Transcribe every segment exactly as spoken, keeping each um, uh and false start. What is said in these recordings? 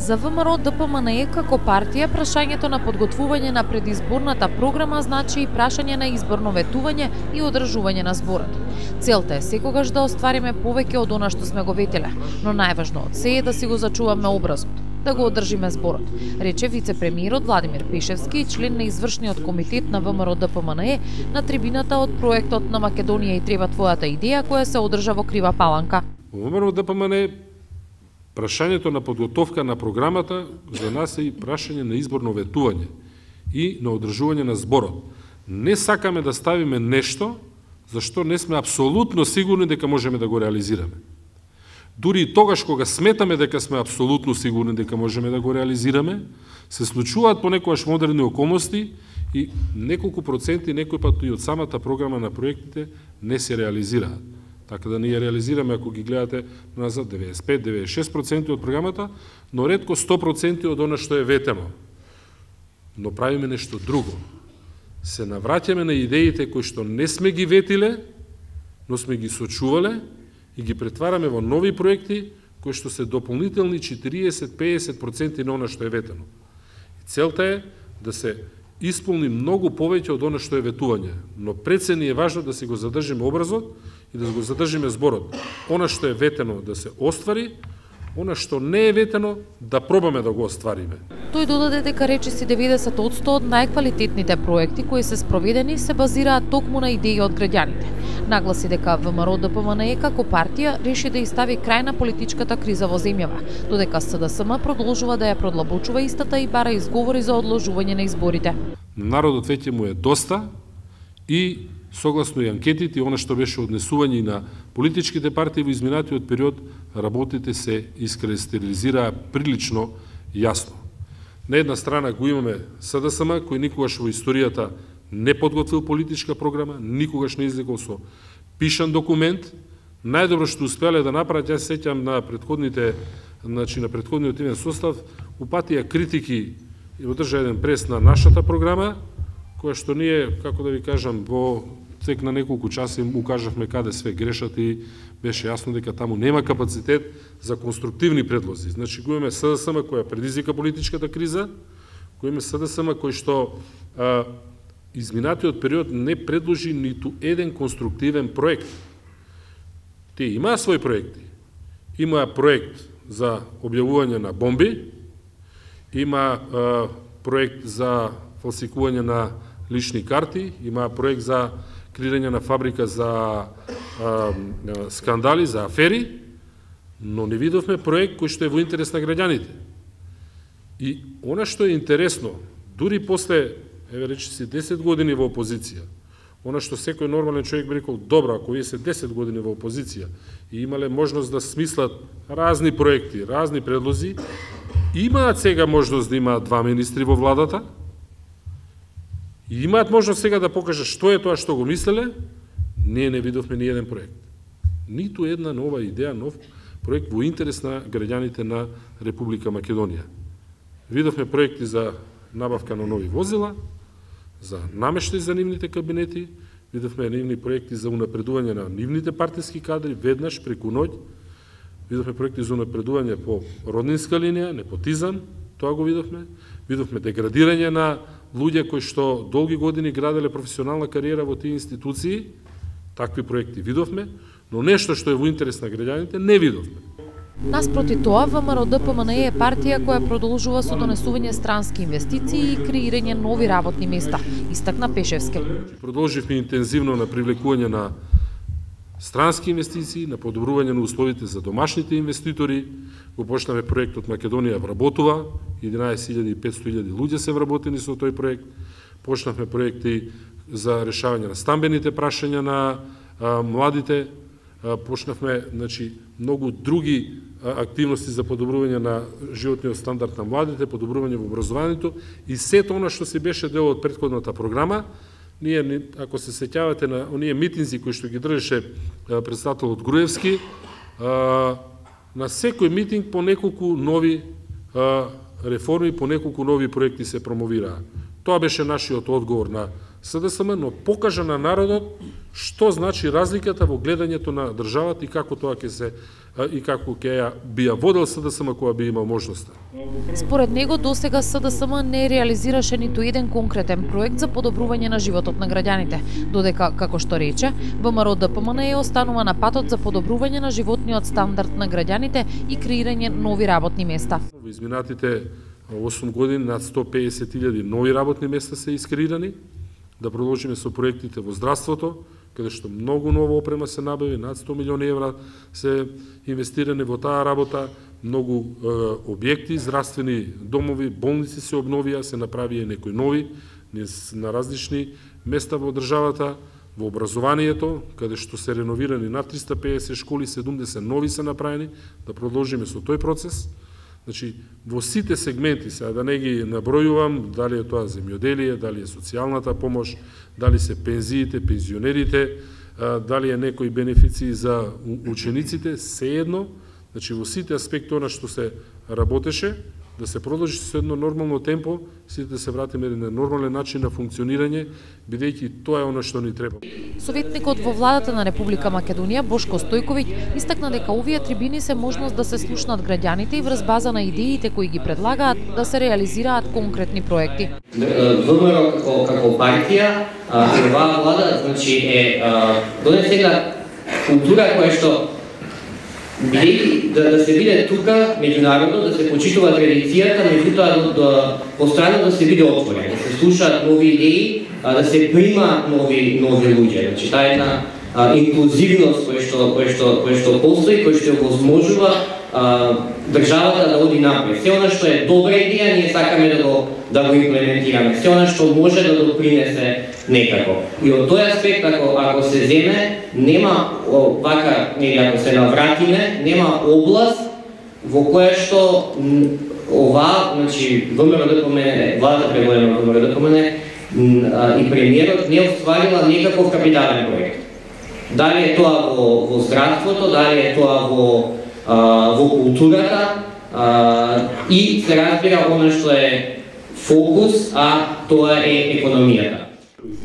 За ВМРО Д П М Н Е како партија, прашањето на подготвување на предизборната програма значи и прашање на изборно ветување и одржување на зборот. Целта е секогаш да оствариме повеќе од она што сме го ветеле, но најважно од се е да си го зачуваме образот, да го одржиме зборот, рече вице-премиерот Владимир Пешевски и член на извршниот комитет на ВМРО Д П М Н Е на трибината од проектот на Македонија и треба твојата идеја која се одржа во Крива Паланка. Во ВМРО Д П М Н Е прашањето на подготовка на програмата за нас е и прашање на изборно ветување и на одржување на зборот. Не сакаме да ставиме нешто за што не сме апсолутно сигурни дека можеме да го реализираме. Дури и тогаш кога сметаме дека сме апсолутно сигурни дека можеме да го реализираме, се случуваат понекогаш модерни околности и неколку проценти, некој пат и од самата програма на проектите не се реализираат. Така да ние реализираме, ако ги гледате назад, деведесет и пет до деведесет и шест проценти од програмата, но ретко сто проценти од она што е ветено. Но правиме нешто друго. Се навраќаме на идеите кои што не сме ги ветиле, но сме ги сочувале и ги претвараме во нови проекти кои што се дополнителни четириесет до педесет проценти на она што е ветено. И целта е да се исполни многу повеќе од она што е ветување, но пред се ни е важно да си го задржиме образот и да го задржиме зборот. Она што е ветено да се оствари, она што не е ветено да пробаме да го оствариме. Тој додаде дека речиси деветдесет одсто од најквалитетните проекти кои се спроведени се базираат токму на идеи од граѓаните. Нагласи дека ВМРО Д П М Н Е како партија реши да изстави крај на политичката криза во земјава, додека С Д С М продолжува да ја продлабочува истата и бара изговори за одложување на изборите. Народот веќе му е доста и согласно и анкетите и она што беше однесување на политичките партии во изминатиот период, работите се искристализираа прилично јасно. На една страна го имаме С Д С М, кој никогаш во историјата не подготвил политичка програма, никогаш не излегол со пишан документ. Најдобро што успеале да направат, јас сеќам на претходните, значи на претходниот иден состав, упатија критики и одржа еден прес на нашата програма, која што ние, како да ви кажам, во тек на неколку часи укажавме каде све грешат и беше јасно дека таму нема капацитет за конструктивни предлози. Значи, го имаме С Д С М која предизвика политичката криза, го имаме С Д С М кој што а, изминатиот период не предложи ниту еден конструктивен проект. Те имаа своји проекти. Имаа проект за објавување на бомби, има а, проект за фалсикување на лични карти, има проект за креирање на фабрика за а, скандали, за афери, но не видовме проект кој што е во интерес на граѓаните. И она што е интересно, дури после, еве речиси, десет години во опозиција, она што секој нормален човек би рекол, добро, ако вие се десет години во опозиција и имале можност да смислат разни проекти, разни предлози, имаат сега можност да имаат два министри во владата, и имаат можност сега да покажат што е тоа што го мислеле, ние не видовме ни еден проект. Ниту една нова идеја, нов проект во интерес на граѓаните на Република Македонија. Видовме проекти за набавка на нови возила, за намештај за нивните кабинети, видовме нивни проекти за унапредување на нивните партиски кадри, веднаш преку ноќ, видовме проекти за унапредување по роднинска линија, непотизам, тоа го видовме, видовме деградирање на луѓе кои што долги години граделе професионална кариера во тие институции, такви проекти видовме, но нешто што е во интерес на граѓаните не видовме. Наспроти тоа, ВМРО Д П М Н Е е партија која продолжува со донесување странски инвестиции и креирање нови работни места, истакна Пешевски. Продолживме интензивно на привлекување на странски инвестиции, на подобрување на условите за домашните инвеститори. Го почнаме проектот Македонија вработува, единаесет илјади и петстотини луѓе се вработени со тој проект. Почнавме проекти за решавање на стамбените прашања на а, младите. А, почнавме, значи, многу други а, активности за подобрување на животниот стандард на младите, подобрување во образованието и сето она што се беше дел од претходната програма. Ние, ако се сеќавате на оние митинзи кои што ги држеше председателот Груевски, а, на секој митинг по неколку нови а, реформи, по неколку нови проекти се промовираа. Тоа беше нашиот одговор на С Д С М, но покажа на народот што значи разликата во гледањето на државата и како тоа ќе се и како ќе ја би ја водел СДСМ кога би имал можноста. Според него досега СДСМ не реализираше ниту еден конкретен проект за подобрување на животот на граѓаните, додека, како што рече, ВМРО Д П М Н е останува на патот за подобрување на животниот стандард на граѓаните и креирање нови работни места. Во изминатите осум години над сто песет илјади нови работни места се искреирани, да продолжиме со проектите во здравството, каде што многу нова опрема се набави, над сто милиони евра се инвестирани во таа работа, многу е, објекти, здравствени домови, болници се обновија, се направија некои нови на различни места во државата, во образованието, каде што се реновирани над триста песет школи, седумдесет нови се направени, да продолжиме со тој процес. Значи, во сите сегменти, сега да не ги набројувам, дали е тоа земјоделие, дали е социјалната помош, дали се пензиите, пензионерите, дали е некои бенефиции за учениците, сеедно, значи во сите аспекти она што се работеше, да се продолжи со едно нормално темпо, сите да се вратиме на нормален начин на функционирање, бидејќи тоа е она што ни треба. Советникот во владата на Република Македонија Бошко Стојковиќ истакна дека овие трибини се можност да се слушнат граѓаните и врз база на идеите кои ги предлагаат да се реализираат конкретни проекти. ВМРО како како партија и оваа влада значи е донесена култура која што бидејќи да, да се биде тука меѓународно, да се почитува традицијата, меѓутоа да постојано да се биде отворен, да се слушаат нови идеи, да се прима нови нови луѓе. Значи таа една инклузивност која што која што која што постои, која што овозможува државата да оди напред. Се она што е добра идеја, ние сакаме да го да го имплементираме. Се она што може да допринесе некако. И од тој аспект, ако, ако се земе, нема вака, или ако се навратиме, нема област во која што ова, значи, ВМРО Д П М Н, владата предводена од ВМРО Д П М Н и премиерот не остварила некаков капитален проект. Дали е тоа во, во здравството, дали е тоа во, а, во културата а, и се разбира она што е фокус, а тоа е економијата.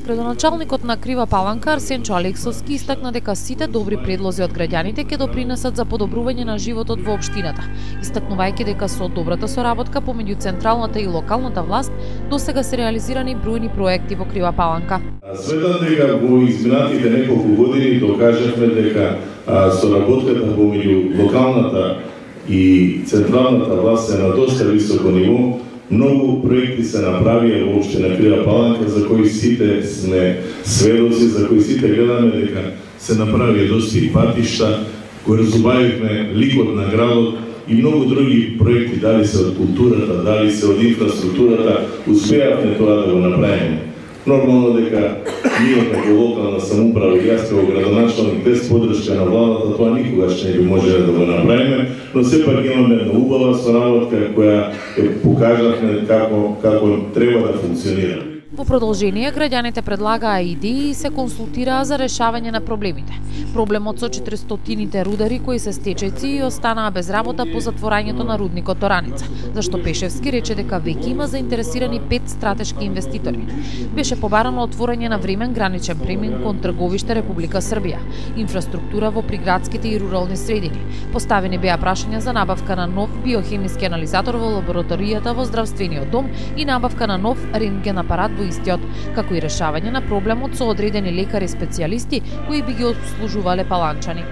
Градоначалникот на Крива Паланка Арсенчо Алексовски истакна дека сите добри предлози од граѓаните ќе допринесат за подобрување на животот во општината, истакнувајќи дека со добрата соработка помеѓу централната и локалната власт досега се реализирани бројни проекти во Крива Паланка. Сметам дека во изминатите неколку години докажавме дека соработката помеѓу локалната и централната власт е на доста високо ниво. Многу проекти се направија во општина Крива Паланка за кои сите сме сведоци, за кои сите гледаме дека се направија доста и патишта, кои разубавивме ликот на градот и многу други проекти, дали се од културата, дали се од инфраструктурата, успеавме тоа да го направиме. Нормално дека ние како локална самоуправа и јас како градоначалник без поддршка на владата тоа никогаш не би можеле да го направиме, но сепак имаме една убава соработка која покажавме како како треба да функционира. Во продолжение, граѓаните предлагаа идеи и се консултираа за решавање на проблемите. Проблемот со четиристотините рудари кои се стечајци и останаа без работа по затворањето на рудникот Ораница, зашто Пешевски рече дека веќе има заинтересирани пет стратешки инвеститори. Беше побарано отворање на времен граничен премин кон трговиште Република Србија, инфраструктура во приградските и рурални средини. Поставени беа прашања за набавка на нов биохемиски анализатор во лабораторијата во здравствениот дом и набавка на нов рентген апарат во истиот, како и решавање на проблемот со одредени лекари специјалисти кои би ги обслужувале паланчани.